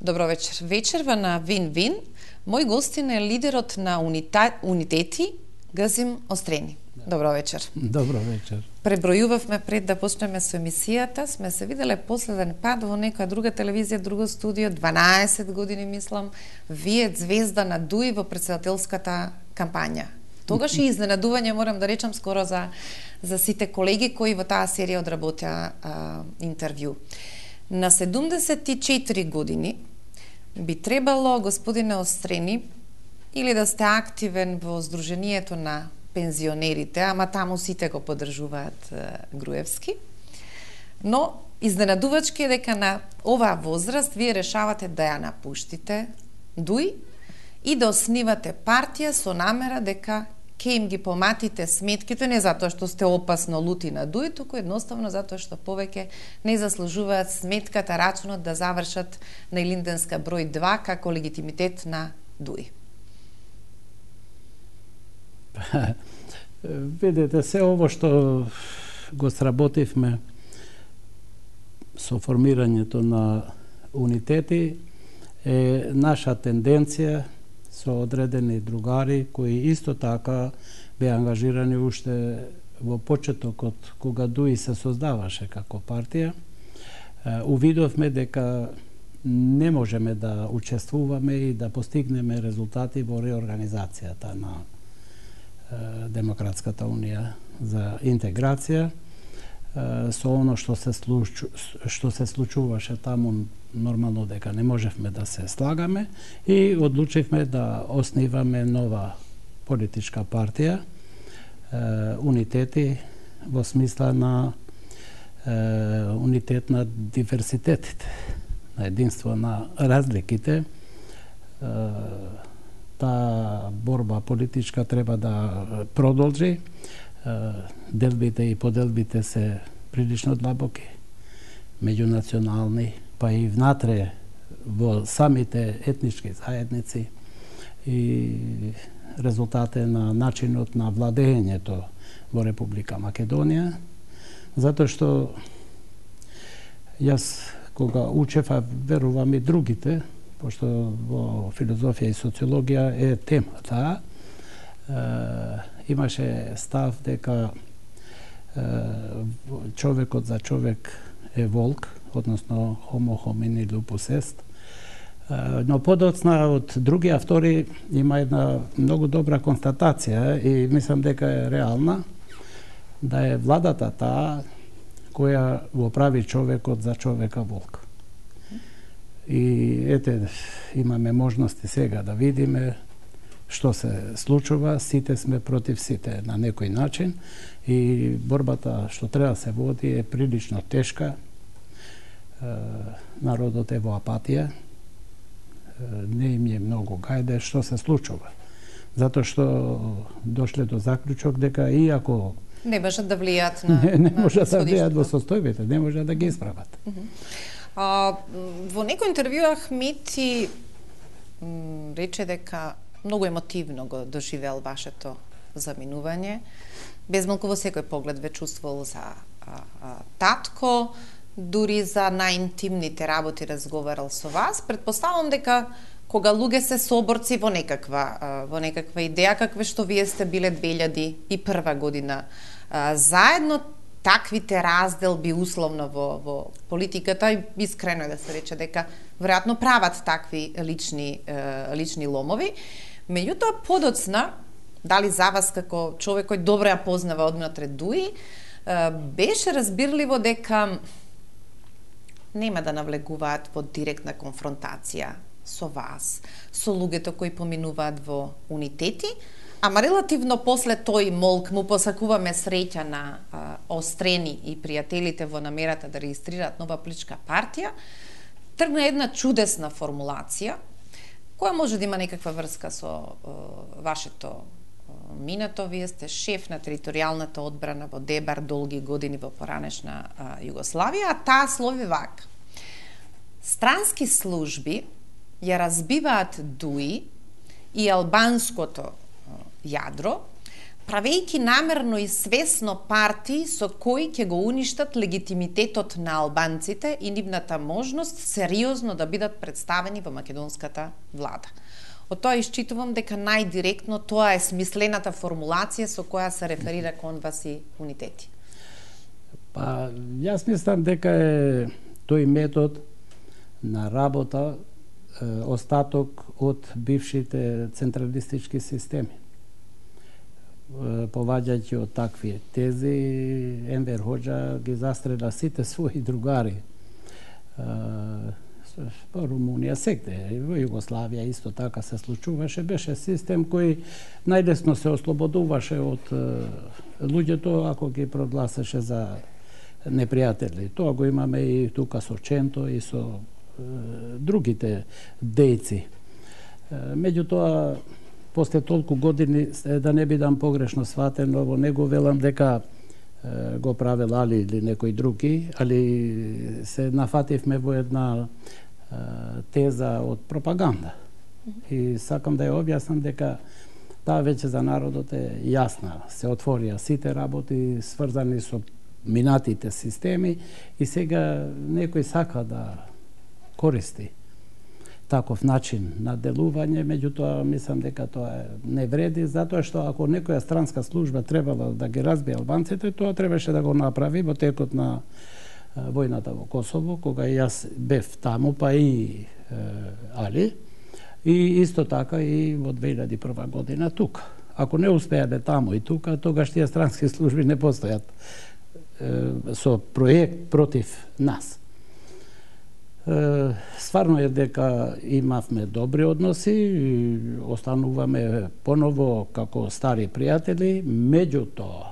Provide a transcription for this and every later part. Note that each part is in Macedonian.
Добро вечер. Вечерва на Вин-Вин. Мој гостин е лидерот на Унитети, Газим Острени. Добро вечер. Добро вечер. Пребројувавме пред да почнеме со емисијата, сме се виделе последен пат во некоја друга телевизија, друго студио, 12 години мислам, вие звезда на ДУИ во претседателската кампања. Тогаш и изненадување, морам да речам, скоро за сите колеги кои во таа серија одработеа интервју. На 74 години би требало, господине Острени, или да сте активен во Сдруженијето на пензионерите, ама таму сите го поддржуваат Груевски. Но изненадувачки е дека на оваа возраст вие решавате да ја напуштите ДУИ и да основате партија со намера дека ќе им ги поматите сметките, не затоа што сте опасно лути на ДУИ, туку едноставно затоа што повеќе не заслужуваат сметката, рачунот да завршат на Илинденска број 2 како легитимитет на ДУИ. Видете, се ово што го сработивме со формирањето на унитети е наша тенденција со одредени другари кои исто така беа ангажирани уште во почетокот кога ДУИ се создаваше како партија. Увидовме дека не можеме да учествуваме и да постигнеме резултати во реорганизацијата на Демократската унија за интеграција. Со оно што се случуваше таму, нормално дека не можевме да се слагаме и одлучивме да основаме нова политичка партија, унитети, во смисла на унитет на диверситетите, на единство на разликите. Таа борба политичка треба да продолжи. Делбите и поделбите се прилично длабоки, меѓунационални, па и внатре во самите етнички заедници, и резултат е на начинот на владењето во Република Македонија, затоа што јас кога учев, а верувам и другите, пошто во филозофија и социологија е темата, имаше став дека човекот за човек е волк, односно homo homini lupus est. Но подоцна од други автори има една многу добра констатација и мислам дека е реална, да е владата таа која го прави човекот за човека волк. И ете, имаме можности сега да видиме што се случува, сите сме против сите на некој начин и борбата што треба да се води е прилично тешка. Народот е во апатија, не им е многу гајде што се случува. Затоа што дошле до заклучок дека иако не можат да влијат на не можат да влијат во состојбите, не можат да ги исправат. Во некој интервју Ахмети рече дека многу емотивно го доживел вашето заминување. Безмалку во секој поглед ве чувствувал за татко, дури за најинтимните работи разговарал со вас. Предпоставам дека кога луѓе се соборци во некаква идеја, какве што вие сте биле 2001 година заедно, таквите разделби условно во политиката, и искрено е да се рече дека веројатно прават такви лични ломови. Меѓутоа, подоцна, дали за вас како човек кој добро ја познава однатре ДУИ, беше разбирливо дека нема да навлегуваат во директна конфронтација со вас, со луѓето кои поминуваат во унитети, ама релативно после тој молк му посакуваме среќа на Острени и пријателите во намерата да регистрираат нова политичка партија, тргна една чудесна формулација, која може да има некаква врска со вашето минато. Вие сте шеф на територијалната одбрана во Дебар долги години во поранешна Југославија, а таа слови вака: странски служби ја разбиваат ДУИ и албанското јадро правејќи намерно и свесно партии со кои ќе го уништат легитимитетот на албанците и нивната можност сериозно да бидат представени во македонската влада. Од тоа исчитувам дека најдиректно тоа е смислената формулација со која се реферира кон вас и унитети. Па, јас мислам дека е тој метод на работа остаток од бившите централистички системи. Поваѓајќи од такви тези, Енвер Хоџа ги застрела сите своји другари. Во Румунија секте, во Југославија исто така се случуваше, беше систем кој најлесно се ослободуваше од луѓето ако ги прогласеше за непријатели. Тоа го имаме и тука со Ченто и со другите дејци. Меѓутоа, после толку години, да не бидам погрешно сватен, во него велам дека го правел Али или некој други, али се нафативме во една теза од пропаганда. И сакам да ја објаснам дека таа веќе за народот е јасна. Се отворија сите работи сврзани со минатите системи и сега некој сака да користи таков начин на делување, меѓутоа мислам дека тоа не вреди, затоа што ако некоја странска служба требала да ги разбие албанците, тоа требаше да го направи во текот на војната во Косово, кога и јас бев таму, па и Али, и исто така и во 2001 година тука. Ако не успеале таму и тука, тогаш тие странски служби не постојат со проект против нас. Стварно е дека имавме добри односи, остануваме поново како стари пријатели, меѓутоа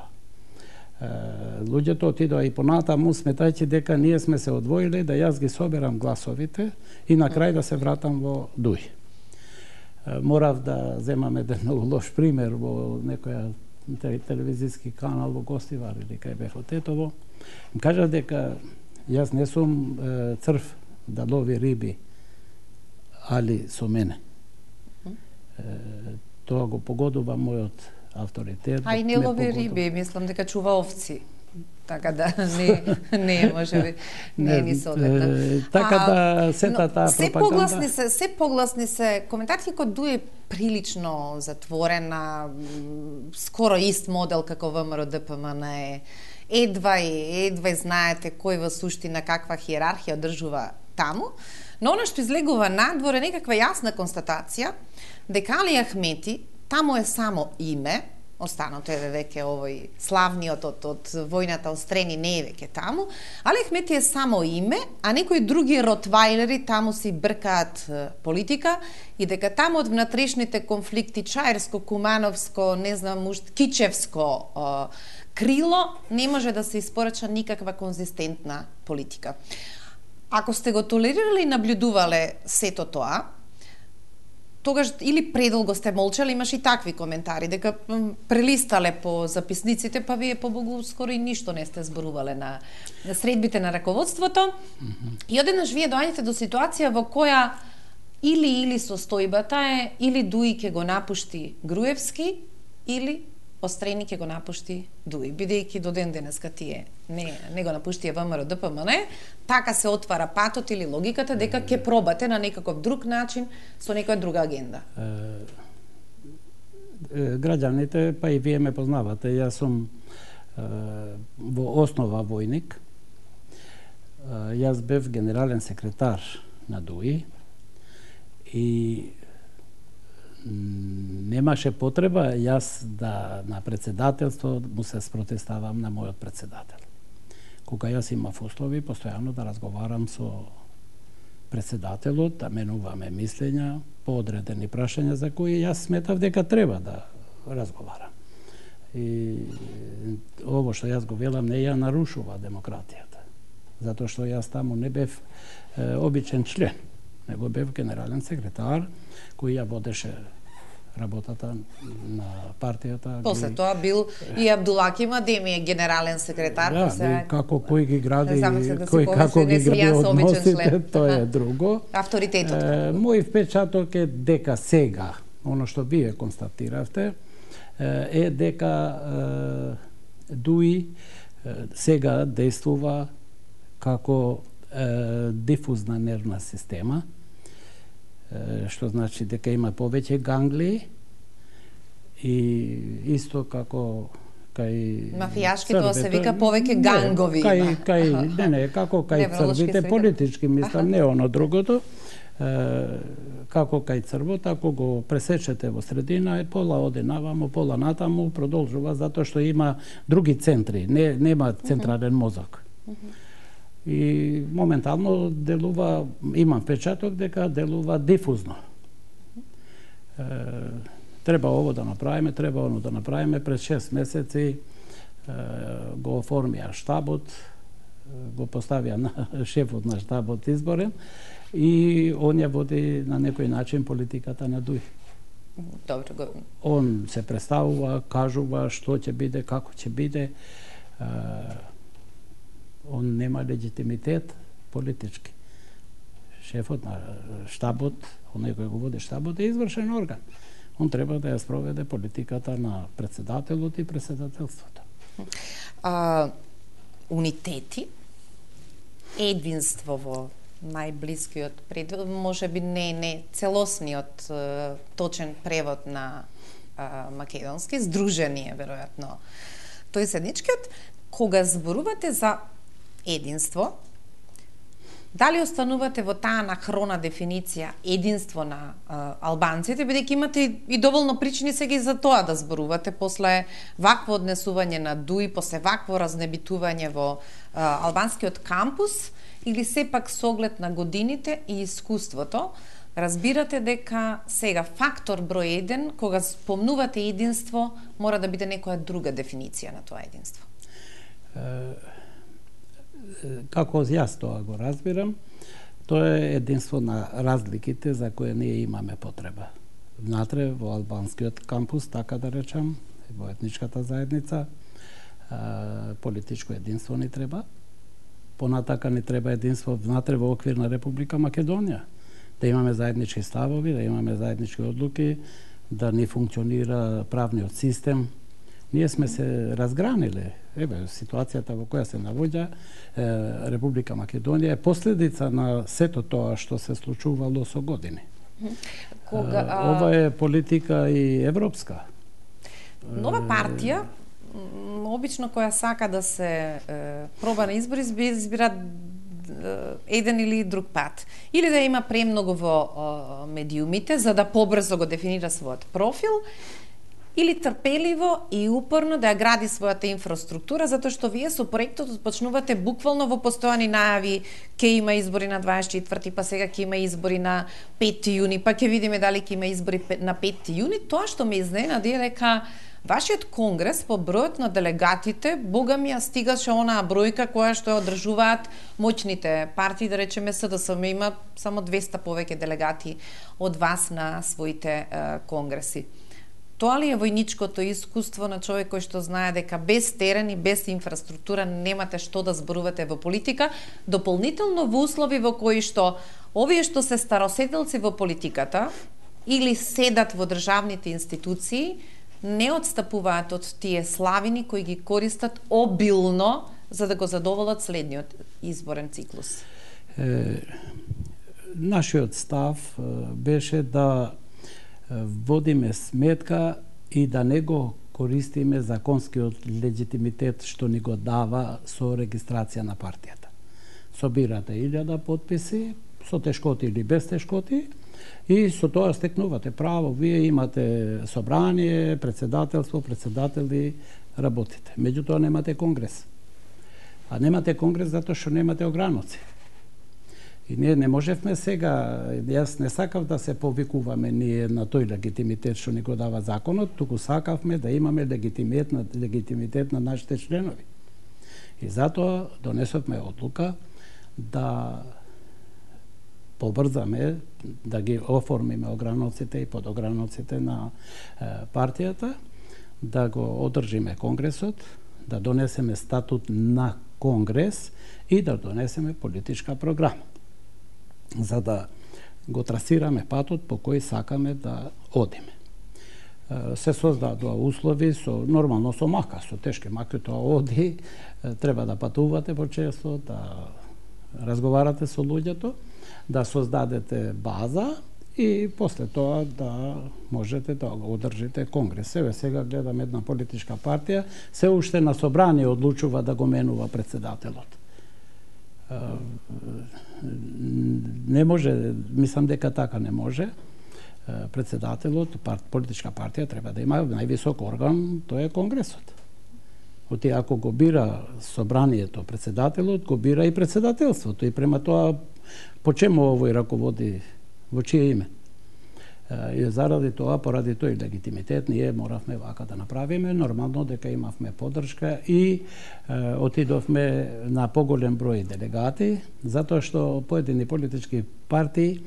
луѓето отидоа и понатаму сметајќи дека ние сме се одвоиле да јас ги соберам гласовите и на крај да се вратам во Дуј. Морав да земам еден многу лош пример во некоја телевизиски канал во Гостивар или кај бев во Тетово. Им кажа дека јас не сум црв да лови риби, али со мене. Тоа го погодува мојот авторитет. А и не лови риби, мислам дека чува овци. Така да не може би не ни соодветна. Така да сета таа пропаганда. Се погласни се коментарите кој Дуј е прилично затворена, скоро ист модел како ВМРО ДПМН е. Едва знаете кој во суштина каква хиерархија одржува таму, но она што излегува надвор е некаква јасна констатација дека Али Ахмети таму е само име, останато е веќе овој славниот од војната острени не е веќе таму, Али Ахмети е само име, а некои други ротвајлери таму си бркаат политика и дека таму од внатрешните конфликти Чаирско, Кумановско, не знам, Кичевско крило не може да се испорача никаква конзистентна политика. Ако сте го толерирали и наблюдувале сето тоа, тогаш или предолго сте молчали, имаш и такви коментари, дека прелистале по записниците, па вие побогу скоро и ништо не сте зборувале на средбите на раководството. И одеднаш вие доаѓате до ситуација во која или состојбата е, или Дуј ќе го напушти Груевски, или Острени ќе го напушти Дуј, бидејќи до ден денеска тие не го напуштија ВМРО ДПМН, така се отвара патот или логиката дека ќе пробате на некаков друг начин со некоја друга агенда. Граѓаните, па и вие ме познавате, јас сум во основа војник. Јас бев генерален секретар на Дуј и немаше потреба јас да на председателство му се спротивставам на мојот председател. Кога јас имав услови постојано да разговарам со председателот, да менуваме мислења по одредени прашања за кои јас сметав дека треба да разговарам. И ово што јас го велам не ја нарушува демократијата. Затоа што јас таму не бев обичен член, него бев генерален секретар кој ја водеше работата на партијата. После тоа бил и Абдулаки Мадеми генерален секретар. Да, како кој ги гради, кој како ги гради односите, тоа е друго. Авторитетот. Мој впечаток е дека сега, оно што вие констатиравте, е дека ДУИ сега действува како дифузна нервна система, што значи дека има повеќе ганглии и исто како кај мафијашки тоа се вика повеќе гангови. Како кај црвите политички мислам, не оно другото. Како кај црвот, ако го пресечете во средина, пола оде наваму, пола натаму, продолжува затоа што има други центри, нема централен мозок. И моментално делува, имам впечаток дека делува дифузно. Треба ово да направиме, треба оно да направиме. Пред 6 месеци го оформија штабот, го поставија на шефот на штабот изборен и он ја води на некој начин политиката на ДУИ. Добро. Он се представува, кажува што ќе биде, како ќе биде. Он нема легитимитет политички. Шефот на штабот, оној кој го води штабот, е извршен орган. Он треба да ја спроведе политиката на председателот и председателството. Унитети, единство во најблискиот предвид, може би не целосниот точен превод на македонски, здружение веројатно. Тој седничкиот, кога зборувате за единство, дали останувате во таа анахрона дефиниција единство на албанците, бидејќи имате и доволно причини сега и за тоа да зборувате после вакво однесување на ДУИ, после вакво разнебитување во албанскиот кампус, или сепак со оглед на годините и искуството, разбирате дека сега фактор број 1, кога спомнувате единство, мора да биде некоја друга дефиниција на тоа единство? Како јас тоа го разбирам, тоа е единство на разликите за кои ние имаме потреба. Внатре во албанскиот кампус, така да речам, во етничката заедница, политичко единство ни треба. Понатака ни треба единство внатре во оквир на Република Македонија. Да имаме заеднички ставови, да имаме заеднички одлуки, да ни функционира правниот систем. Ние сме се разграниле. Еве, ситуацијата во која се наоѓа Република Македонија е последица на сето тоа што се случувало со години. Ова е политика и европска. Нова партија, обично која сака да се проба на избори, избира еден или друг пат. Или да има премногу во медиумите, за да побрзо го дефинира својот профил, или трпеливо и упорно да ја гради својата инфраструктура, затоа што вие со проектот почнувате буквално во постојани најави, ќе има избори на 24-ти, па сега ќе има избори на 5 јуни, па ќе видиме дали ќе има избори на 5 јуни. Тоа што ме изненади е дека вашиот конгрес по бројот на делегатите, бога ми ја стигаше онаа бројка која што ја одржуваат моćните партии, да речеме СДСМ има само 200 повеќе делегати од вас на своите конгреси. Тоа ли е војничкото искуство на човек кој што знае дека без терен и без инфраструктура немате што да зборувате во политика, дополнително во услови во кои што овие што се староседелци во политиката или седат во државните институции, не отстапуваат од тие славини кои ги користат обилно за да го задоволат следниот изборен циклус? Нашиот став беше да водиме сметка и да не го користиме законскиот легитимитет што ни го дава со регистрација на партијата. Собирате 1000 подписи, со тешкоти или без тешкоти, и со тоа стекнувате право. Вие имате собрание, председателство, председатели, работите. Меѓутоа немате конгрес. А немате конгрес затоа што немате ограноци. И ние не можевме сега, јас не сакав да се повикуваме ние на тој легитимитет што ни го дава законот, туку сакавме да имаме легитимитет на нашите членови. И затоа донесовме одлука да побрзаме, да ги оформиме ограноците и подограноците на партијата, да го одржиме конгресот, да донесеме статут на конгрес и да донесеме политичка програма, за да го трасираме патот по кој сакаме да одиме. се создадоа услови нормално со мака, со тешки маки, тоа оди, треба да патувате почесто, да разговарате со луѓето, да создадете база и после тоа да можете да го одржите конгрес. Сега гледам една политичка партија, се уште на собрание одлучува да го менува председателот. Не може, мислам дека така не може. Председателот, политичка партија треба да има највисок орган, тоа е конгресот. Оти ако го бира собранието, председателот, го бира и председателството и према тоа по чему овој раководи, во чие име. И заради тоа, поради тој легитимитет, ние моравме вака да направиме, нормално дека имавме поддршка и отидовме на поголем број делегати, затоа што поедини политички партии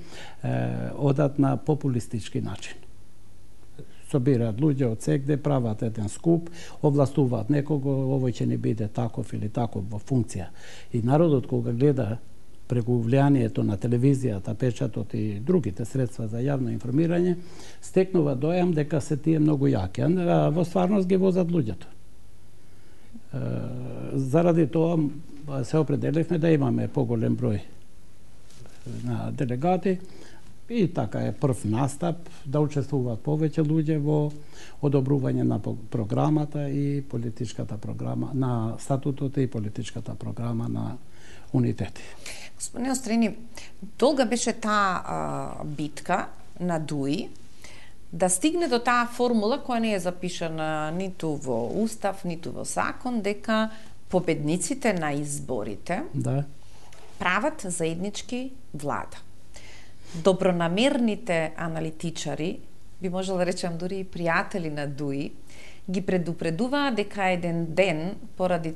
одат на популистички начин. Собираат луѓе од сегде, прават еден скуп, овластуваат некого, овој ќе ни биде таков или таков во функција. И народот кога гледа преку влијанието на телевизијата, печатот и другите средства за јавно информирање, стекнува дојам дека се тие многу јаки, а во стварност ги возат луѓето. Заради тоа се определивме да имаме поголем број на делегати и така е прв настап да учествуваат повеќе луѓе во одобрување на програмата и политичката програма, на статутот и политичката програма на унитети. Господине Острени, долга беше таа битка на ДУИ да стигне до таа формула која не е запишана ниту во устав, ниту во закон, дека победниците на изборите прават заеднички влада. Добронамерните аналитичари, би можела да речем дури и пријатели на ДУИ, ги предупредуваа дека еден ден, поради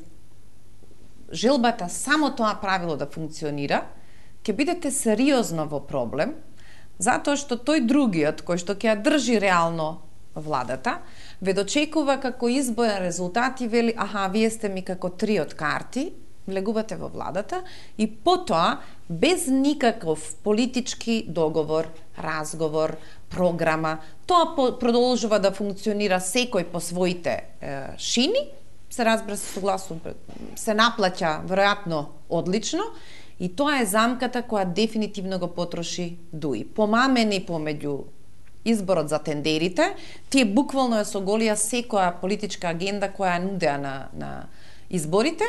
желбата само тоа правило да функционира, ќе бидете сериозно во проблем, затоа што тој другиот, кој што ќе ја држи реално владата, ве дочекува како изборен резултат и вели, аха, вие сте ми како три од карти, влегувате во владата и потоа, без никаков политички договор, разговор, програма, тоа продолжува да функционира секој по своите шини, се разбира се согласно, се наплаќа веројатно одлично и тоа е замката која дефинитивно го потроши ДУИ. Помамени помеѓу изборот за тендерите, тие буквално ја соголија секоја политичка агенда која нудеа на изборите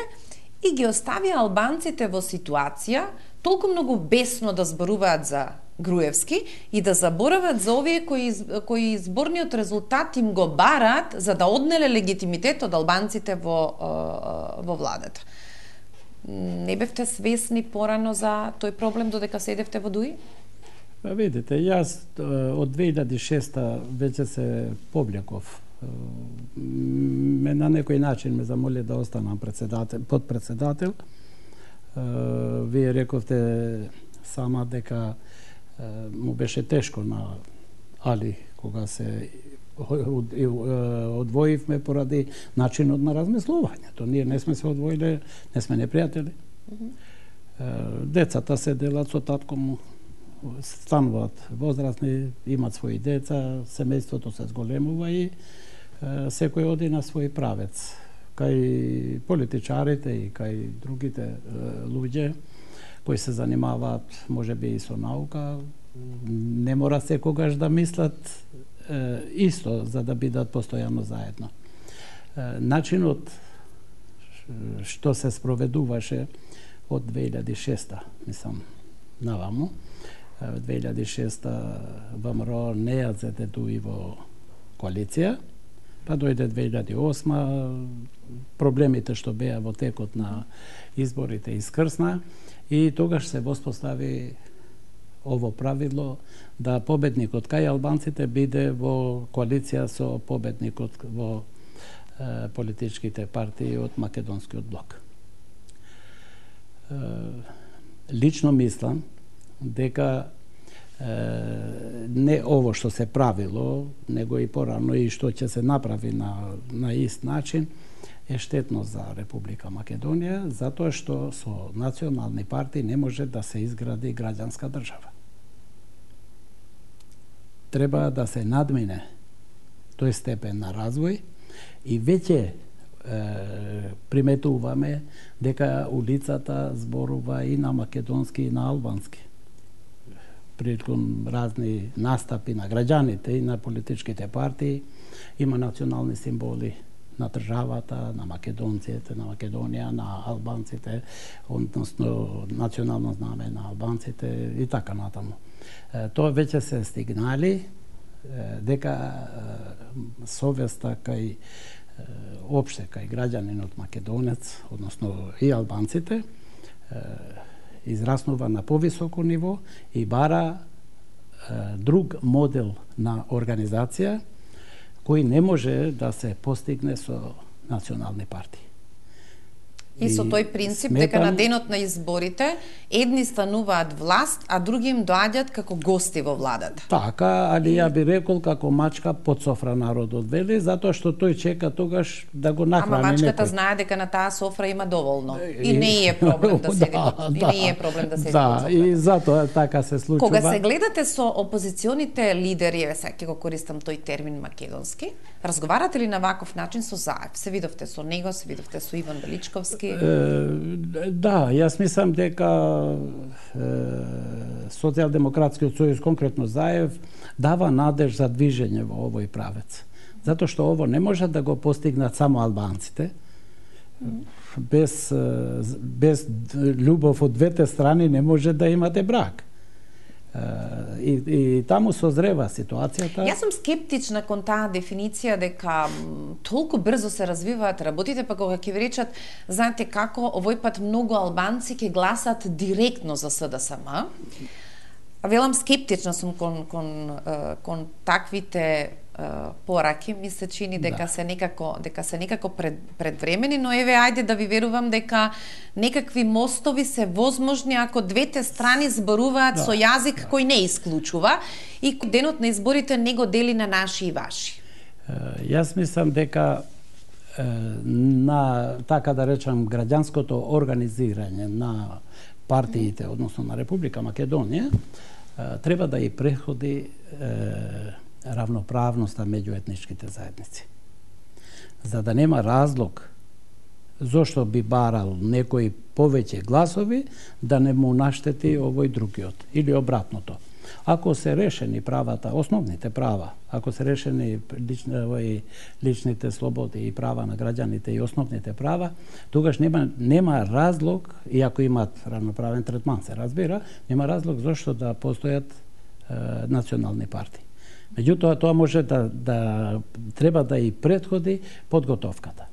и ги оставија албанците во ситуација толку многу бесно да зборуваат за Груевски и да заборават за овие кои изборниот резултат им го бараат за да однеле легитимитет од албанците во владата. Не бевте свесни порано за тој проблем додека седевте во ДУИ? Видите, јас од 2006 веќе се повлеков. На некој начин ме замоли да останам подпредседател. Вие рековте сама дека му беше тешко на Али кога се одвоивме поради начинот на размислувањето. Ние не сме се одвоиле, не сме непријатели. Децата се делат со татко му, стануваат возрастни, имат своји деца, семејството се зголемува и секој оди на свој правец. Кај политичарите и кај другите луѓе кои се занимаваат можеби и со наука, не мора секогаш да мислат исто за да бидат постојано заедно. Начинот што се спроведуваше од 2006, мислам, наваму, 2006 ВМРО не ја зеде ДУИ во коалиција, па дојде 2008, проблемите што беа во текот на изборите искрсна и тогаш се воспостави ово правило да победникот кај албанците биде во коалиција со победникот во политичките партии од Македонскиот блок. Лично мислам дека не ово што се правило, него и порано и што ќе се направи на ист начин, е штетно за Република Македонија, затоа што со национални партии не може да се изгради граѓанска држава. Треба да се надмине тој степен на развој и веќе приметуваме дека улицата зборува и на македонски и на албански. Приликон разни настапи на граѓаните и на политичките партии има национални символи на државата, на македонците, на Македонија, на албанците, односно национално знаме на албанците и така натаму. Тоа веќе се стигнали дека совеста кај опште кај граѓанинот македонец, односно и албанците, израснува на повисоко ниво и бара друг модел на организација кој не може да се постигне со национални партии. И со тој принцип дека на денот на изборите едни стануваат власт, а други им доаѓаат како гости во владата. Така, али ја би рекол како мачка под софра народот вели, затоа што тој чека тогаш да го нахрани некој. Ама мачката знае дека на таа софра има доволно. И не е проблем да седи и не е проблем да седи. Да, и затоа така се случува. Кога се гледате со опозиционите лидери, сега го користам тој термин македонски, разговарате ли на ваков начин со Заев? Се видовте со него, се видовте со Иван Величковски? Да, јас мислам дека Социјалдемократскиот сојуз, конкретно Заев, дава надеж за движење во овој правец. Затоа што ово не може да го постигнат само албанците. Без љубов од двете страни не може да имате брак. И таму созрева ситуацијата. Јас сум скептична кон таа дефиниција дека толку брзо се развиваат работите, па кога ќе ви речат, знаете како, овој пат многу албанци ќе гласат директно за СДСМ. Велам скептична сум кон таквите пораки, ми се чини дека се некако предвремени, но еве ајде да ви верувам дека некакви мостови се возможни ако двете страни зборуваат со јазик кој не исклучува и денот на изборите не го дели на наши и ваши. Јас мислам дека на, така да речам, граѓанското организирање на партиите, односно на Република Македонија, треба да и преходи равноправноста меѓу етничките заедници. За да нема разлог зошто би барал некои повеќе гласови да не му наштети овој другиот или обратното. Ако се решени правата, основните права, ако се решени личните слободи и права на граѓаните и основните права, тогаш нема разлог, и ако имаат равноправен третман, се разбира, нема разлог зошто да постојат национални партии. Меѓутоа, тоа може да треба да и предходи подготовката.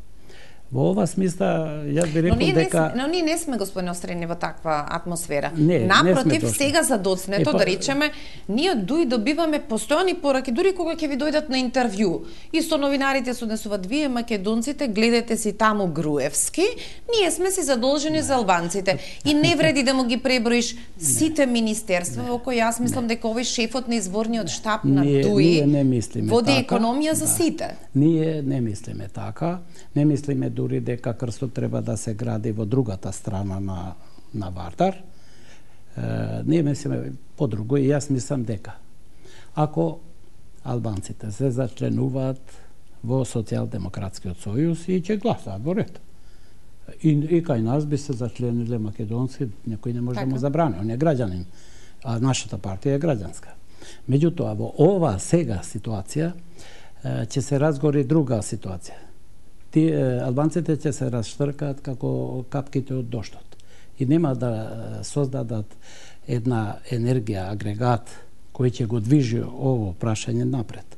Во ова смисла, јас би рекол дека... Но ние не сме, господине Острени, во таква атмосфера. Не, напротив, не сега за доцнето, да речеме, ние добиваме постојани пораки, дури кога ќе ви дојдат на интервју. И со новинарите се однесуваат, вие македонците, гледате си таму Груевски, ние сме си задолжени за албанците. И не вреди да му ги преброиш сите министерства, во кои јас мислам дека овој шефот на изворниот штаб на ДУИ води економија за сите. Ние не мислиме така, не мислиме дури дека крстот треба да се гради во другата страна на Вардар. Ние мислиме подруго и јас мислам дека ако албанците се зачленуваат во Социјалдемократскиот сојуз и ќе гласаат во ред. И кај нас би се зачлениле македонски, некој не може да му забрани, он е граѓанин, а нашата партија е граѓанска. Меѓутоа, во ова сега ситуација ќе се разгори друга ситуација. Албанците ќе се расштркаат како капките од доштот и нема да создадат една енергија, агрегат кој ќе го движи ово прашање напред.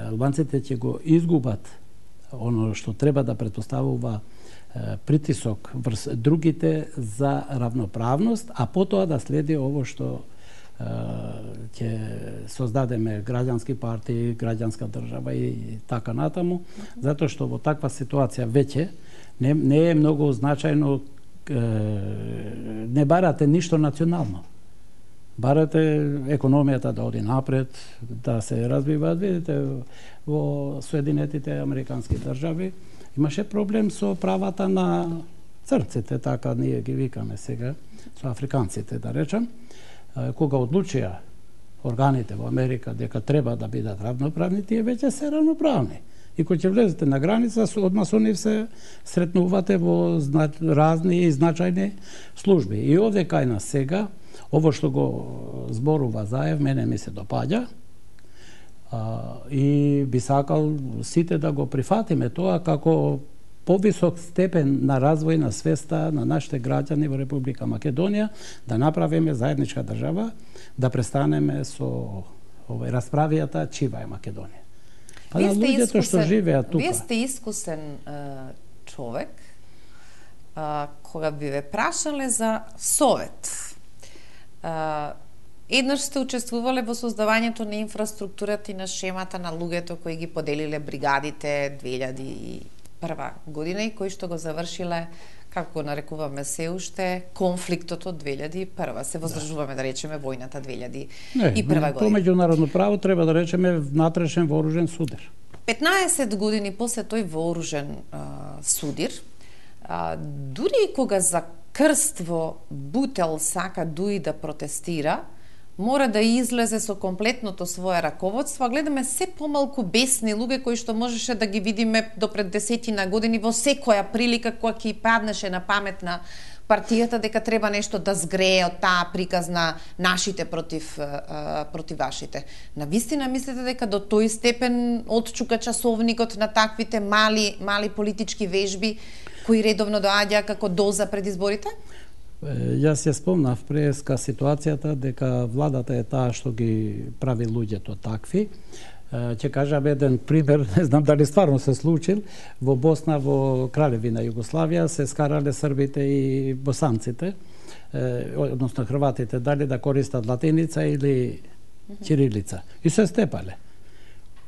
Албанците ќе го изгубат оно што треба да претпоставува притисок врз другите за равноправност, а потоа да следи ово што ќе создадеме граѓански партии, граѓанска држава и така натаму, затоа што во таква ситуација веќе не е многу значајно, не барате ништо национално. Барате економијата да оди напред, да се развиваат. Видите, во Соединетите Американски држави имаше проблем со правата на црците, така ние ги викаме сега, со африканците, да речем, кога одлучија органите во Америка дека треба да бидат равноправни, тие веќе се равноправни. И кога ќе влезете на граница, одма со нив се сретнувате во разни и значајни служби. И овде кај нас сега, ово што го зборува Заев, мене ми се допаѓа, и би сакал сите да го прифатиме тоа како повисок степен на развој на свеста на нашите граѓани во Република Македонија, да направиме заедничка држава, да престанеме со расправијата чива е Македонија. Па на луѓето што живеат тука. Вие сте искусен човек, кога би ве прашале за совет. Еднаш сте учествувале во создавањето на инфраструктурата и на шемата на луѓето кои ги поделиле бригадите 2001 година и кои што го завршиле, како го нарекуваме се уште, конфликтот од 2001. Се воздржуваме да речеме војната 2001 година. По меѓународно право треба да речеме внатрешен вооружен судир. 15 години после тој вооружен судир, дури и кога за крст во Бутел сака дуи да протестира, мора да излезе со комплетното свое раководство, а гледаме се помалку бесни луѓе кои што можеше да ги видиме до пред 10 години во секоја прилика кога ќе паднеше на памет на партијата дека треба нешто да згрее од таа приказна нашите против вашите. Навистина мислите дека до тој степен отчука часовникот на таквите мали политички вежби кои редовно доаѓа како доза пред изборите? Јас ја спомнав преска ситуацијата дека владата е таа што ги прави луѓето такви. Ќе кажам еден пример, не знам дали стварно се случил, во Босна, во Кралевина Југославија се скарале србите и босанците, односно хрватите, дали да користат латиница или чирилица. И се степале.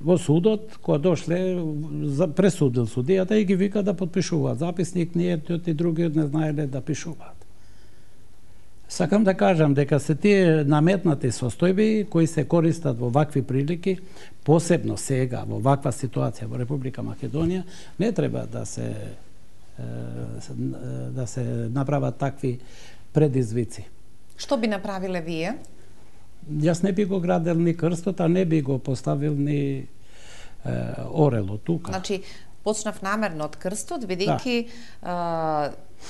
Во судот, кога дошле, пресудил судијата и ги вика да подпишуваат записник, ние и другиот не знаеле да пишуваат. Сакам да кажам дека се тие наметнати состојби кои се користат во вакви прилики, посебно сега во ваква ситуација во Република Македонија, не треба да се направат такви предизвици. Што би направиле вие? Јас не би го градел ни крстот, а не би го поставил ни орело тука. Значи, почнав намерно од крстот, бидејќи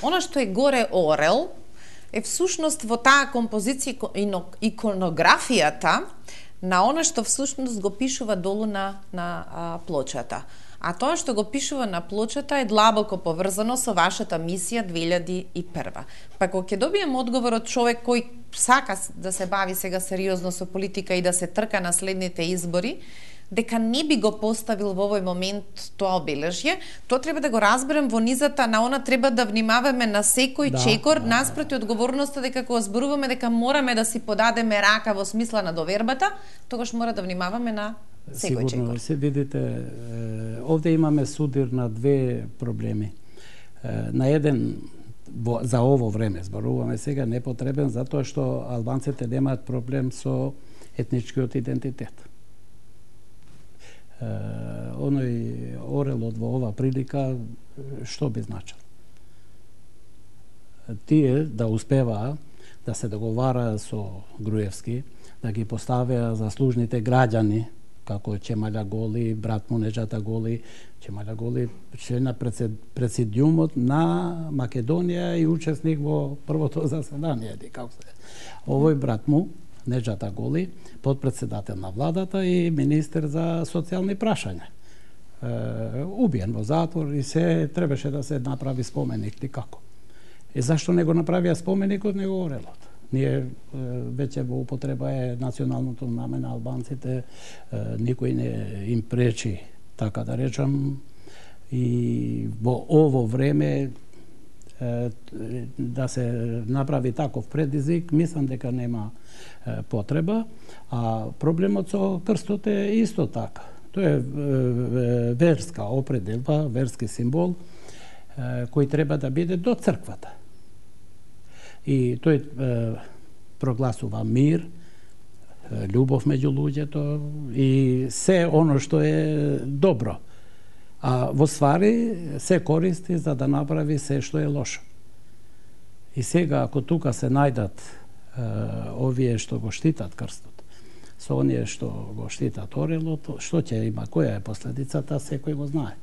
она што е горе орел е всушност во таа композиција иконографијата на она што всушност го пишува долу на плочата. А тоа што го пишува на плочата е длабоко поврзано со вашата мисија 2001. Па кога ќе добием одговор од човек кој сака да се бави сега сериозно со политика и да се трка на следните избори, дека не би го поставил во овој момент тоа обележје, тоа треба да го разберем во низата на она треба да внимаваме на секој чекор, наспроти одговорноста дека кога зборуваме дека мораме да си подадеме рака во смисла на довербата, тогаш мора да внимаваме на секој чекор. Сигурно, се видите, овде имаме судир на две проблеми. На еден за ово време зборуваме сега непотребен затоа што албанците немаат проблем со етничкиот идентитет. Оној орелот во ова прилика што би значил? Тие да успеваа да се договара со Груевски, да ги поставеа заслужните граѓани како Чемаља Голи, брат му Неџата Голи, Чемаља Голи член на пресидиумот на Македонија и учесник во првото заседание, како се. Овој брат му Неџата Голи, подпредседател на владата и министер за социјални прашања. Убиен во затвор и се требаше да се направи споменик, како. И зашто не го направија споменикот, не го орелот? Ние веќе во употреба е националното знаме на албанците, никој не им пречи, така да речам, и во ово време да се направи таков предизвик, мислам дека нема потреба, а проблемот со крстот е исто така. Тоа е верска определба, верски символ, кој треба да биде до црквата. И тој прогласува мир, љубов меѓу луѓето и се оно што е добро. А во ствари се користи за да направи се што е лошо. И сега, ако тука се најдат овие што го штитат крстот, со оние што го штитат орелото, што ќе има, која е последицата, секој го знае.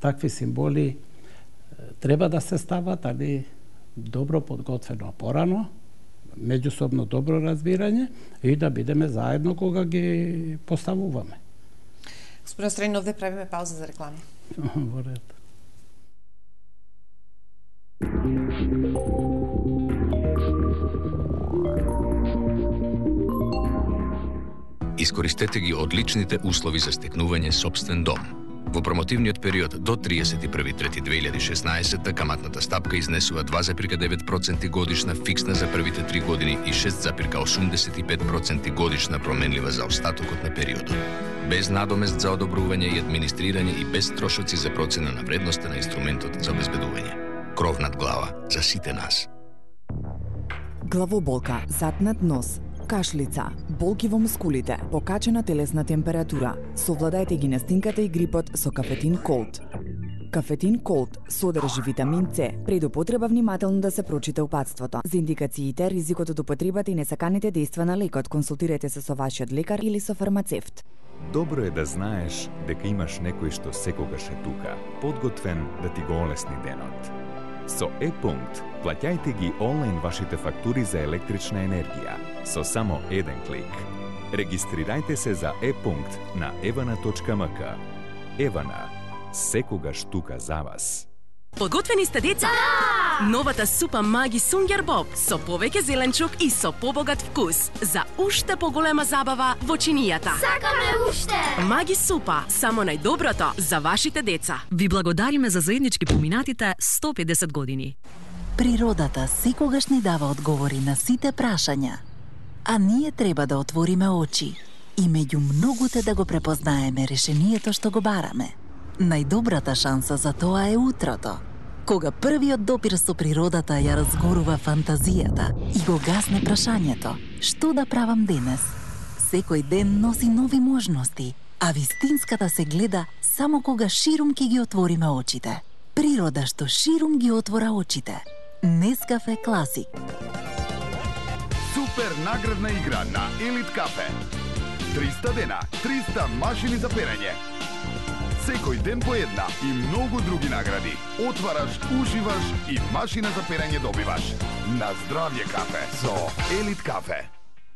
Такви символи треба да се стават, али добро подготвено порано, меѓусобно добро разбирање и да бидеме заедно кога ги поставуваме. Господин Остранин, овде правиме пауза за реклами. Во ред. Искористете ги одличните услови за стекнување собствен дом. Во промотивниот период до 31.3.2016 каматната стапка изнесува 2,9% годишна фиксна за првите 3 години и 6,85% годишна променлива за остатокот на периодот. Без надомест за одобрување и администрирање и без трошоци за процена на вредноста на инструментот за обезбедување. Кров над глава за сите нас. Главоболка, затнат нос, кашлица, болки во мускулите, покачена телесна температура. Совладајте ги настинката и грипот со Кафетин Колд. Кафетин Колд содржи витамин С. Пред употреба внимателно да се прочита упатството. За индикациите, ризикот од употребата и несаканите дејства на лекот, консултирайте се со вашиот лекар или со фармацевт. Добро е да знаеш дека имаш некој што секогаш е тука, подготвен да ти го олесни денот. Со Е-пункт плаќајте ги онлайн вашите фактури за електрична енергија со само еден клик. Регистрирајте се за Е-пункт на evana.mk. Евана, секогаш тука за вас. Подготвени сте, деца? Новата супа Маги Сунгер Боб со повеќе зеленчук и со побогат вкус за уште поголема забава во чинијата. Сакаме уште! Маги супа, само најдоброто за вашите деца. Ви благодариме за заеднички поминатите 150 години. Природата секогаш ни дава одговори на сите прашања, а ние треба да отвориме очи и меѓу многуте да го препознаеме решението што го бараме. Најдобрата шанса за тоа е утрото, кога првиот допир со природата ја разгорува фантазијата и го гасне прашањето: што да правам денес? Секој ден носи нови можности, а вистинската се гледа само кога ширум ќе ги отвориме очите. Природа што ширум ги отвора очите. Нескафе Класик. Супер наградна игра на Елит Кафе. 300 дена, 300 машини за перење. Секој ден по една и многу други награди. Отвараш, уживаш и машина за перење добиваш. На здравје кафе со Елит Кафе.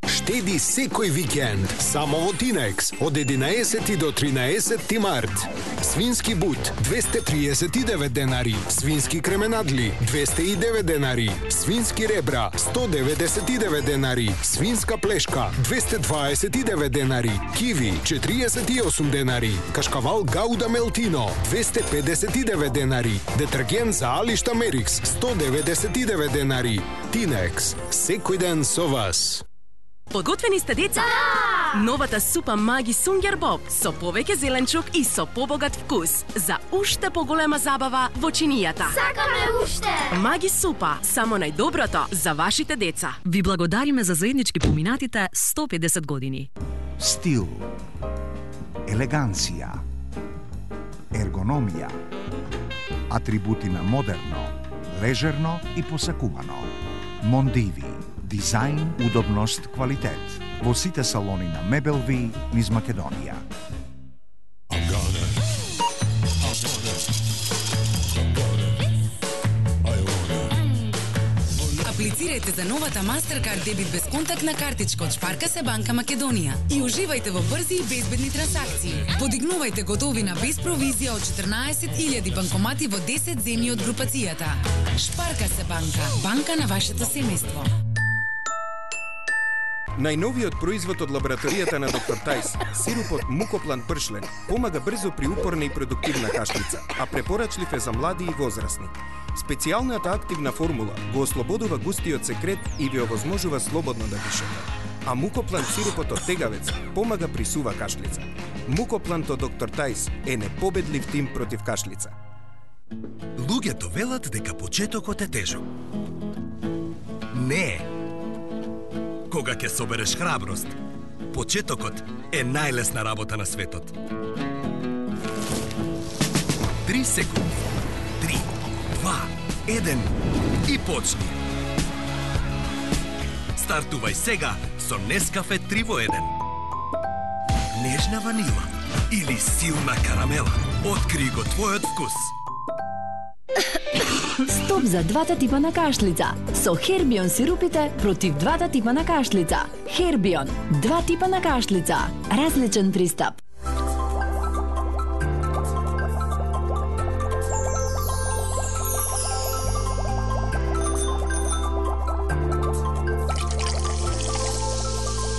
Штеди секој викенд само во Тинекс од 11 до 13 март. Свински бут 239 денари, свински кременадли 209 денари, свински ребра 199 денари, свинска плешка 229 денари, киви 48 денари, кашкавал Гауда Мелтино 259 денари, детергент за алишта Мерикс 199 денари. Тинекс, секој ден со вас. Подготвени сте, деца? Новата супа Маги Сунгер Боб со повеќе зеленчук и со побогат вкус за уште поголема забава во чинијата. Сакаме уште! Маги супа, само најдоброто за вашите деца. Ви благодариме за заеднички поминатите 150 години. Стил, елеганција, ергономија, атрибути на модерно, лежерно и посакувано. Мондиви. Дизајн, удобност, квалитет. Во сите салони на Мебелви низ Македонија. Аплицирајте за новата Mastercard дебит безконтактна картичка од Шпарка се банка Македонија и уживајте во брзи и безбедни трансакции. Подигнувајте готовина без провизија од 14.000 банкомати во 10 земји од групацијата. Шпарка се банка, банка на вашето семејство. Најновиот производ од лабораторијата на доктор Тајс, сирупот Мукоплан пршлен, помага брзо при упорна и продуктивна кашлица, а препорачлив е за млади и возрастни. Специјалната активна формула го ослободува густиот секрет и ви овозможува слободно да дишате. А Мукоплан сирупот од тегавец помага при сува кашлица. Мукоплант од доктор Тајс е непобедлив тим против кашлица. Луѓето велат дека почетокот е тежок. Не е. Кога ќе собереш храброст, почетокот е најлесна работа на светот. 3 секунди. 3, 2, 1 и почни. Стартувај сега со Нескафе 3 во 1. Нежна ванила или силна карамела. Откри го твојот вкус. Стоп за двата типа на кашлица. Со Хербион сирупите против двата типа на кашлица. Хербион, два типа на кашлица. Различен пристап.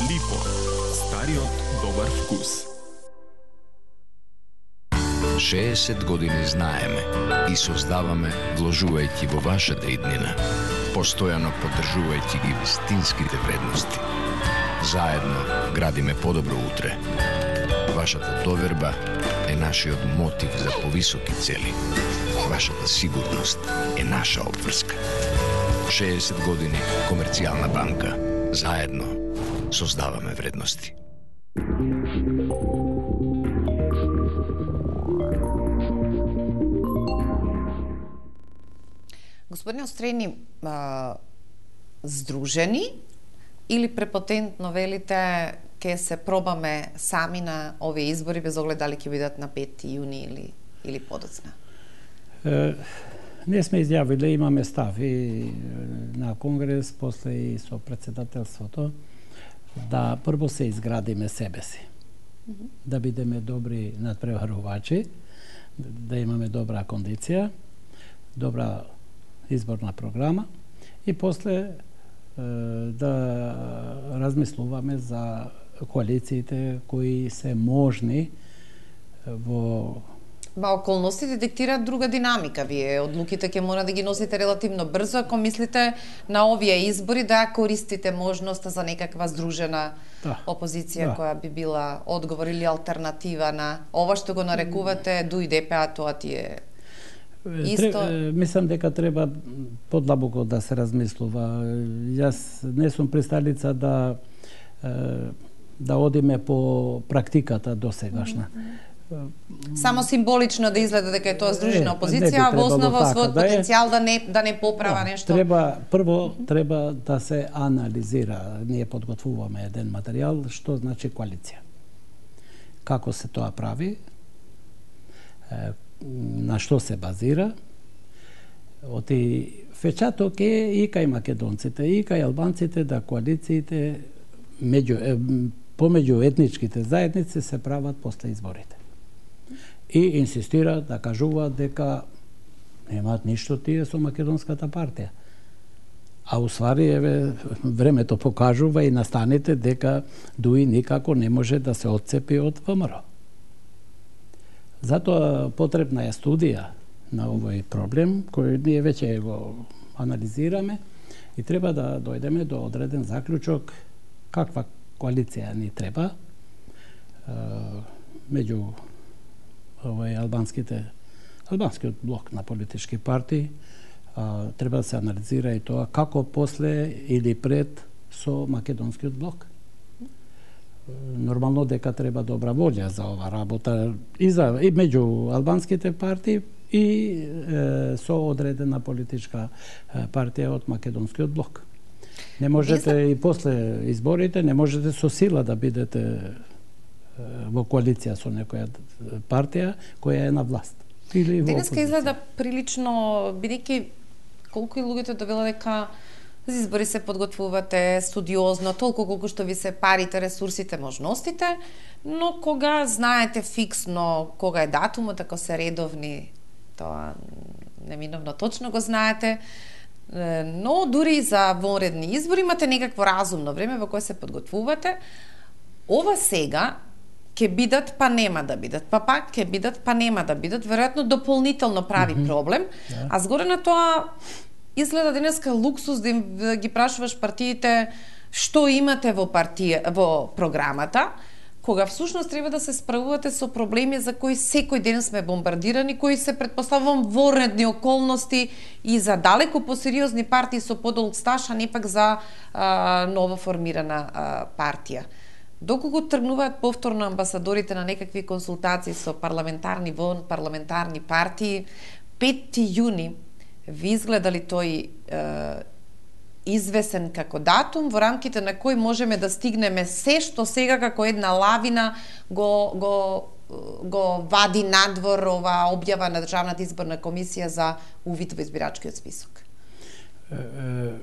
Липо, стариот добар вкус. 60 години знаеме и создаваме вложувајќи во вашата иднина, постојано поддржувајќи ги вистинските вредности. Заедно градиме подобро утре. Вашата доверба е нашиот мотив за повисоки цели. Вашата сигурност е наша обврска. 60 години Комерцијална банка. Заедно создаваме вредности. Господине Острени, здружени или препотентно велите ке се пробаме сами на овие избори без оглед дали ќе бидат на 5 јуни или подоцна? Ние сме изјавиле, имаме став и на Конгрес, после и со председателството, да прво се изградиме себе си. Да бидеме добри надпреварувачи, да имаме добра кондиција, добра изборна програма и после да размислуваме за коалициите кои се можни во околностите диктираат друга динамика. Вие одлуките ќе мора да ги носите релативно брзо, ако мислите на овие избори да користите можноста за некаква здружена опозиција која би била одговор или алтернатива на ова што го нарекувате ДУИ-ДП, тоа ти е исто. Мислам дека треба подлабоко да се размислува. Јас не сум присталица да одиме по практиката досегашна. Само символично да изгледа дека е тоа здружена опозиција, а во основа својот потенцијал да не поправа нешто. Прво треба да се анализира. Ние подготвуваме еден материјал што значи коалиција. Како се тоа прави? На што се базира? Оти фечаток е и кај македонците, и кај албанците да коалициите помеѓу етничките заедници се прават после изборите. И инсистираат да кажуваат дека немаат ништо тие со македонската партија. А уствари, времето покажува и настаните дека ДУИ никако не може да се отцепи од ВМРО. Затоа потребна е студија на овој проблем, кој ние веќе го анализираме и треба да дојдеме до одреден заклучок каква коалиција ни треба меѓу албанскиот блок на политички партии. Треба да се анализира и тоа како после или пред со македонскиот блок. Нормално дека треба добра волја за ова работа и меѓу албанските партии и со одредена политичка партија од македонскиот блок. Не можете и после изборите, не можете со сила да бидете во коалиција со некоја партија која е на власт. Денеска изгледа прилично, бидејќи колку и луѓето довела дека за избори се подготвувате студиозно, толку колку што ви се парите, ресурсите, можностите, но кога знаете фиксно кога е датумот, ако се редовни, тоа неминовно точно го знаете, но дури за вонредни избори имате некакво разумно време во кое се подготвувате. Ова сега ќе бидат, па нема да бидат, па пак ќе бидат, па нема да бидат, веројатно дополнително прави проблем, а згоре на тоа изгледа денеска луксус да ги прашуваш партиите што имате во програмата, кога всушност треба да се справувате со проблеми за кои секој ден сме бомбардирани, кои се претпоставувам во редни околности и за далеко посериозни партии со подолг стаж, а не пак за ново формирана партија. Доколку тргнуваат повторно амбасадорите на некакви консултации со парламентарни партии, 5 јуни ви изгледа ли тој извесен како датум во рамките на кој можеме да стигнеме се што сега како една лавина го вади надвор ова објава на Државната изборна комисија за увид во избирачкиот список.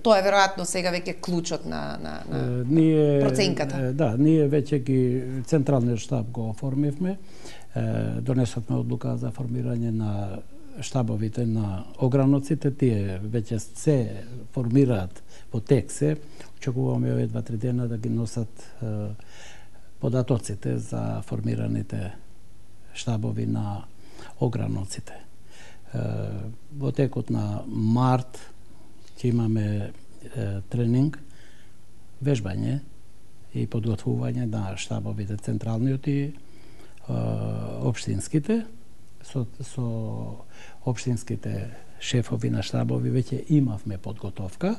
Тоа е веројатно сега веќе клучот на проценката. Да, ние веќе ги централниот штаб го оформивме, донесовме одлука за формирање на штабовите на ограноците, тие веќе се формираат во тек се. Очекуваме овие 2-3 дена да ги носат податоците за формираните штабови на ограноците. Во текот на март ќе имаме тренинг, вежбање и подготвување на штабовите централниот и општинските. Со општинските шефови на штабови веќе имавме подготовка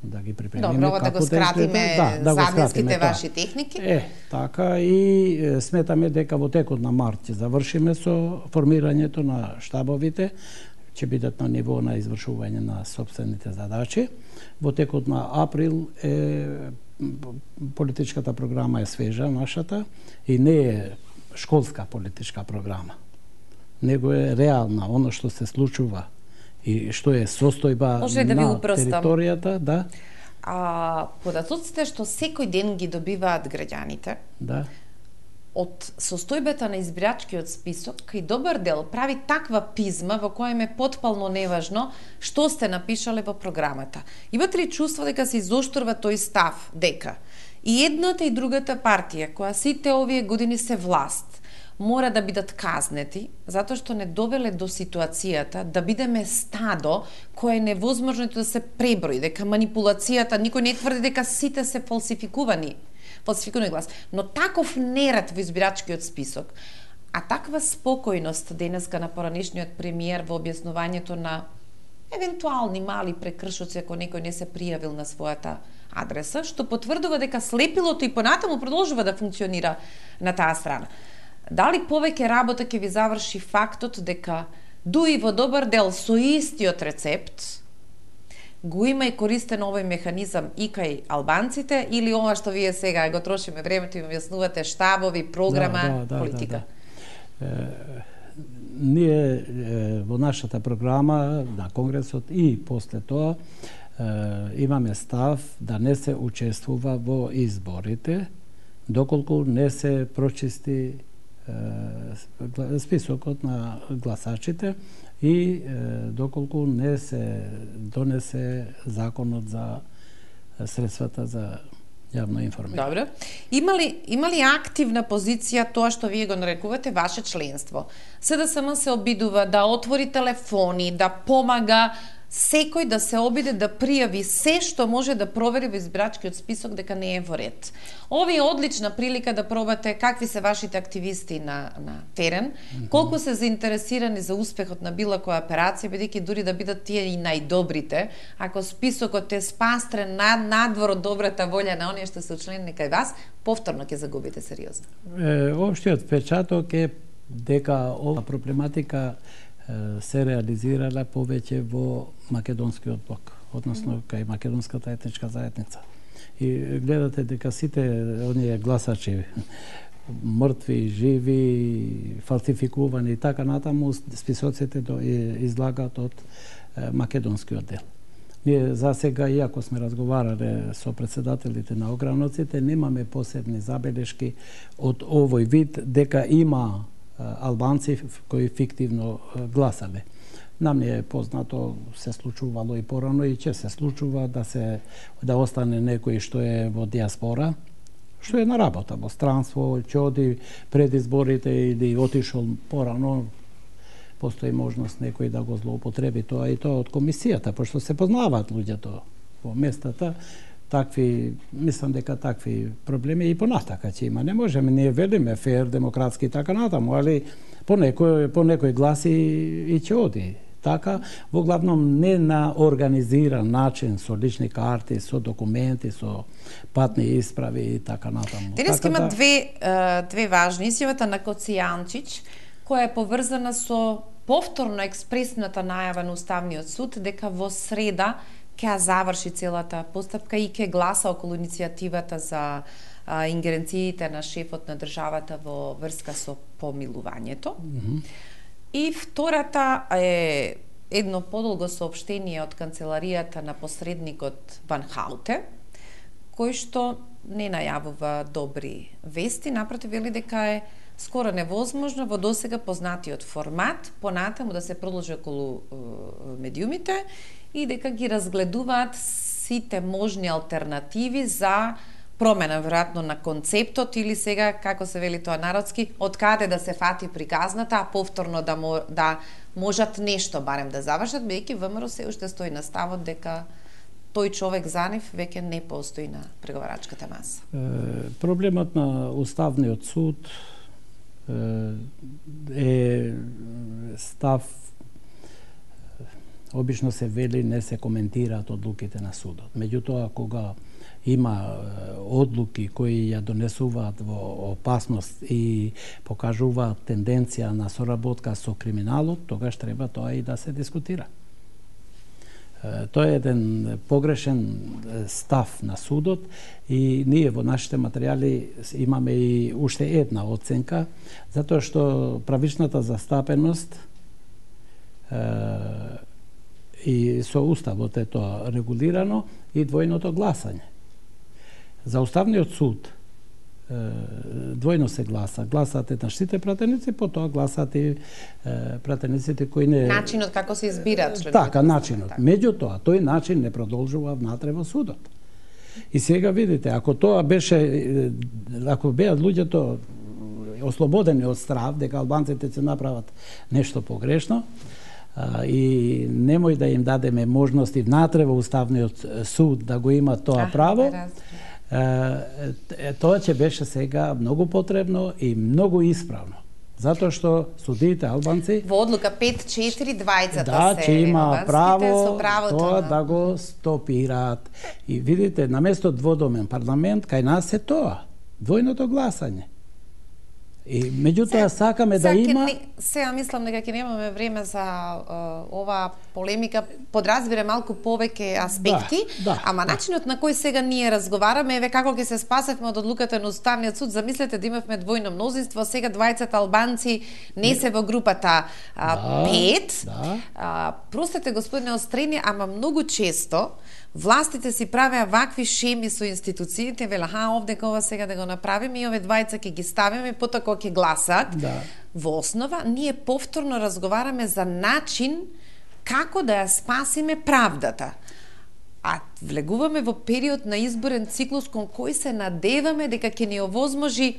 да ги припремиме. Добро, да го скратиме заднеските ваши техники. Така и сметаме дека во текот на март ќе завршиме со формирањето на штабовите, ќе бидат на ниво на извршување на сопствените задачи. Во текот на април политичката програма е свежа нашата и не е школска политичка програма, него е реална, оно што се случува и што е состојба на територијата. Да. Податоците што секој ден ги добиваат граѓаните, да, од состојбата на избирачкиот список и добар дел прави таква пизма во која е потпално неважно што сте напишале во програмата. Имате ли чувство дека се изоштрува тој став дека и едната и другата партија, која сите овие години се власт, мора да бидат казнети, затоа што не довеле до ситуацијата да бидеме стадо кое е невозможно да се преброи, дека манипулацијата, никој не тврди дека сите се фалсификувани глас, но таков неред во избирачкиот список, а таква спокојност денеска на поранешниот премиер во објаснувањето на евентуални мали прекршоци ако некој не се пријавил на својата адреса, што потврдува дека слепилото и понатаму продолжува да функционира на таа страна. Дали повеќе работа ќе ви заврши фактот дека дуи во добар дел со истиот рецепт го има и користен овој механизам и кај албанците, или ова што вие сега го трошиме времето и објаснувате штабови, програма, политика? Ние во нашата програма на Конгресот и после тоа имаме став да не се учествува во изборите доколку не се прочисти списокот на гласачите и доколку не се донесе законот за средствата за јавно информирање. Добро. Има ли активна позиција тоа што вие го нарекувате ваше членство? СДСМ се обидува да отвори телефони, да помага секој да се обиде да пријави се што може да провери во избирачкиот список дека не е во ред. Ови е одлична прилика да пробате какви се вашите активисти на терен, колку се заинтересирани за успехот на било која операција, бидејќи дури да бидат тие и најдобрите, ако списокот е спастрен надвор од добрата волја на оние што се учленени кај вас, повторно ќе загубите сериозно. Општиот впечаток е дека ова проблематика се реализирала повеќе во македонскиот блок, односно кај македонската етничка заедница. И гледате дека сите оние гласачи, мртви, живи, фалсификувани и така натаму, списоците излагат од македонскиот дел. Ние за сега, иако сме разговарале со председателите на ограноците, немаме посебни забелешки од овој вид дека има албанци кои фиктивно гласале. Нам не е познато, се случувало и порано и ќе се случува да остане некој што е во диаспора, што е на работа во странство, ќе оди пред изборите или отишол порано, постои можност некој да го злоупотреби тоа и тоа од комисијата, пошто се познаваат луѓето во местата. Мислам дека такви проблеми и понатака ќе има. Не можеме, ние велиме фер, демократски и така натаму, али по некој гласи и ќе оди. Така, во главном не на организиран начин, со лични карти, со документи, со патни исправи и така натаму. Денеска има две важни. Изјавата на Коци Јанчич, која е поврзана со повторно експресната најава на Уставниот суд дека во среда ќе заврши целата постапка и ќе гласа околу иницијативата за ингеренциите на шефот на државата во врска со помилувањето. И втората е едно подолго соопштение од канцеларијата на посредникот Ван Хауте, кој што не најавува добри вести, напротив вели дека е скоро невозможно во досега познатиот формат понатаму да се продолжи околу медиумите и дека ги разгледуваат сите можни алтернативи за промена веројатно на концептот или сега, како се вели тоа народски, од каде да се фати приказната, а повторно да можат нешто барем да завршат, бидејќи ВМРО се уште стои на ставот дека тој човек за нив веќе не постои на преговарачката маса. Проблемот на Уставниот суд е став, обично се вели, не се коментираат одлуките на судот. Меѓутоа, кога има одлуки кои ја донесуваат во опасност и покажуваат тенденција на соработка со криминалот, тогаш треба тоа и да се дискутира. Тоа е еден погрешен став на судот и ние во нашите материјали имаме и уште една оценка, затоа што правичната застапеност и со уставот е тоа регулирано и двојното гласање. За Уставниот суд двојно се гласа. Гласаат еднашните пратеници, потоа гласаат и пратениците кои не... Начинот како се избираат членовите. Така, начинот. Меѓутоа, тој начин не продолжува внатре во судот. И сега видите, ако тоа беше, ако беа луѓето ослободени од страв, дека албанците ќе направат нешто погрешно, и немој да им дадеме можности внатре во Уставниот суд да го има тоа право, тоа ќе беше сега многу потребно и многу исправно. Затоа што судиите албанци во одлука 5-4 двајцата ќе има право тоа на... да го стопираат. И видите, наместо дводомен парламент, кај нас е тоа, двојното гласање. И меѓутоа сакаме да има... Сега мислам дека ќе немаме време за оваа полемика, подразбира малку повеќе аспекти, ама начинот на кој сега ние разговараме, еве како ќе се спасевме од одлуката на Уставниот суд, замислете да имавме двојно мнозинство, сега двајцата албанци не се во групата 5. Простете, господине Острени, ама многу често властите си правеа вакви шеми со институциите, веле, овде ова сега да го направиме и ове двајца ќе ги ставиме, потоа кога ќе гласат. Во основа, ние повторно разговараме за начин како да ја спасиме правдата. А влегуваме во период на изборен циклус кон кој се надеваме дека ќе ни овозможи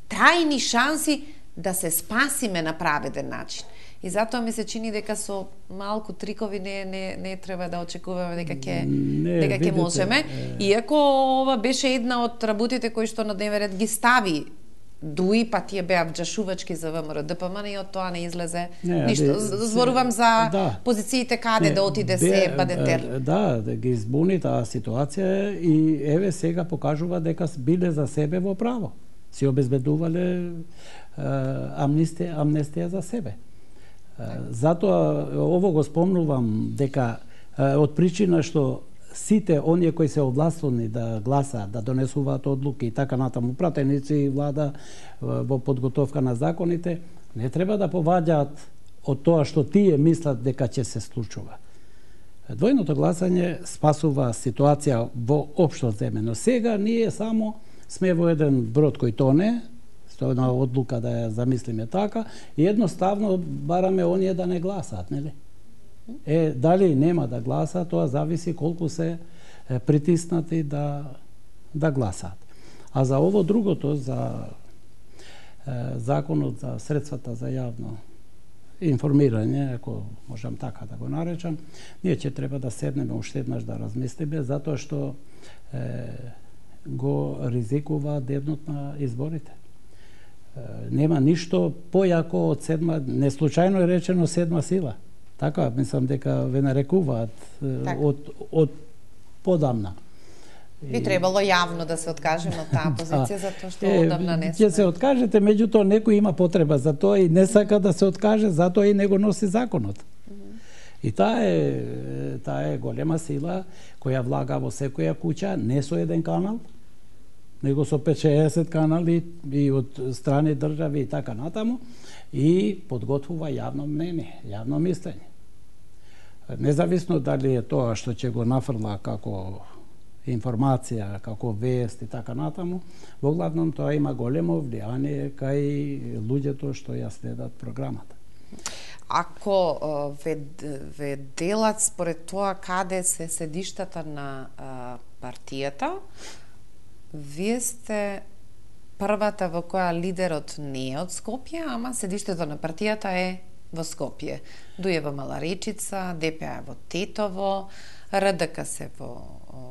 трајни шанси да се спасиме на праведен начин. И затоа ми се чини дека со малку трикови не треба да очекуваме дека ќе можеме. Иако ова беше една од работите кои што на дневен ред ги стави Дуи, па тие беа вџашувачки за ВМРО ДПМН и од тоа не излезе ништо. Зборувам за позициите каде да отиде се Бадентер. Да ги избуни таа ситуација и еве сега покажува дека биле за себе во право. Си обезбедувале амнестија за себе. Затоа ово го спомнувам дека од причина што сите оние кои се овластени да гласаат, да донесуваат одлуки и така натаму, пратеници и влада во подготовка на законите, не треба да поваѓаат од тоа што тие мислат дека ќе се случува. Двојното гласање спасува ситуација во општо земено. Сега ние само сме во еден брод кој тоне, со една одлука да ја замислиме така, и едноставно бараме оние да не гласаат, нели? Дали нема да гласаат, тоа зависи колку се притиснати да гласаат. А за ово другото, за законот за средствата за јавно информирање, ако можам така да го наречам, ние ќе треба да седнеме уште еднаш да размислиме, затоа што го ризикува дебнот на изборите. Нема ништо појако од седма, не случајно е речено седма сила. Така, мислам дека ве нарекуваат од подамна. Би требало јавно да се откажеме од таа позиција, затоа што одамна не сме. Ќе се откажете, меѓутоа некој има потреба за тоа и не сака да се откаже, затоа и не го носи законот. И таа е голема сила која влага во секоја куќа, не со еден канал, него со 5-60 канали и од страни држави и така натаму, и подготвува јавно мнение, јавно мислење. Независно дали е тоа што ќе го нафрла како информација, како вест и така натаму, во главном тоа има големо влијание кај луѓето што ја следат програмата. Ако ве делат според тоа каде се седиштата на партијата, вие сте првата во која лидерот не е од Скопје, ама седиштето на партијата е во Скопје. ДУ е во Маларичица, ДПА е во Тетово, РДК се во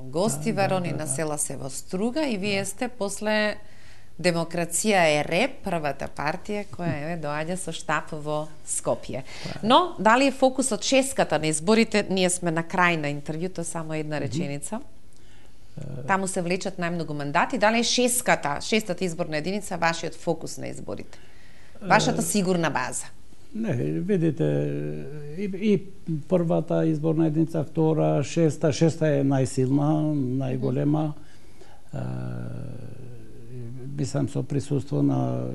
Гостивар, на села се во Струга и вие сте после Демокрација е РЕП, првата партија која доаѓа со штаб во Скопје. Но, дали е фокусот шеската на изборите, ние сме на крај на интервјуто, само една реченица. Таму се влечат најмногу мандати. Дали е шестата изборна единица, вашиот фокус на изборите? Вашата сигурна база? Не, видите, и првата изборна единица, втора, шеста е најсилна, најголема. Мислам со присуство на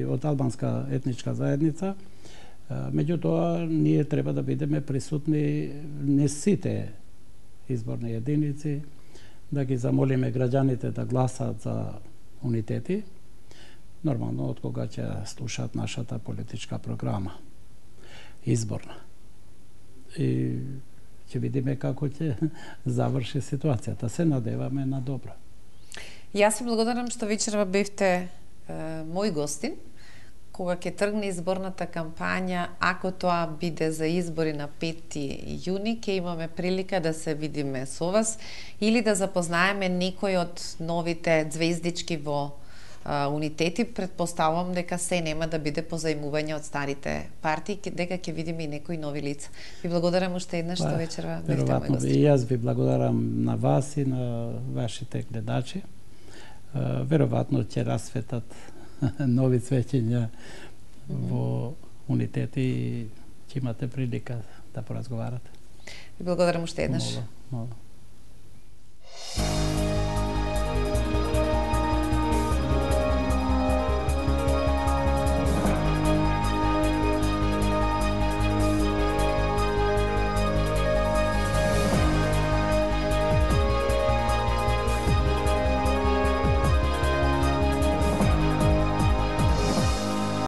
од албанска етничка заедница. Меѓутоа, ние треба да бидеме присутни не сите изборни единици, да ги замолиме граѓаните да гласат за унитети, нормално од кога ќе слушаат нашата политичка програма, изборна. И ќе видиме како ќе заврши ситуацијата. Се надеваме на добро. Јас ви благодарам што вечерва бевте мој гостин, кога ќе тргне изборната кампања, ако тоа биде за избори на 5 јуни, ќе имаме прилика да се видиме со вас или да запознаеме некој од новите звездички во унитети. Предпоставувам дека се нема да биде позајмување од старите партии, дека ќе видиме и некои нови лица. Ви благодарам уште еднаш што вечерва бевте мој гостин. И јас ви благодарам на вас и на вашите гледачи. Веројатно ќе расветат нови свеќиња во унитети и ќе имате прилика да поразговарате. Ви благодарам уште еднаш. Мола.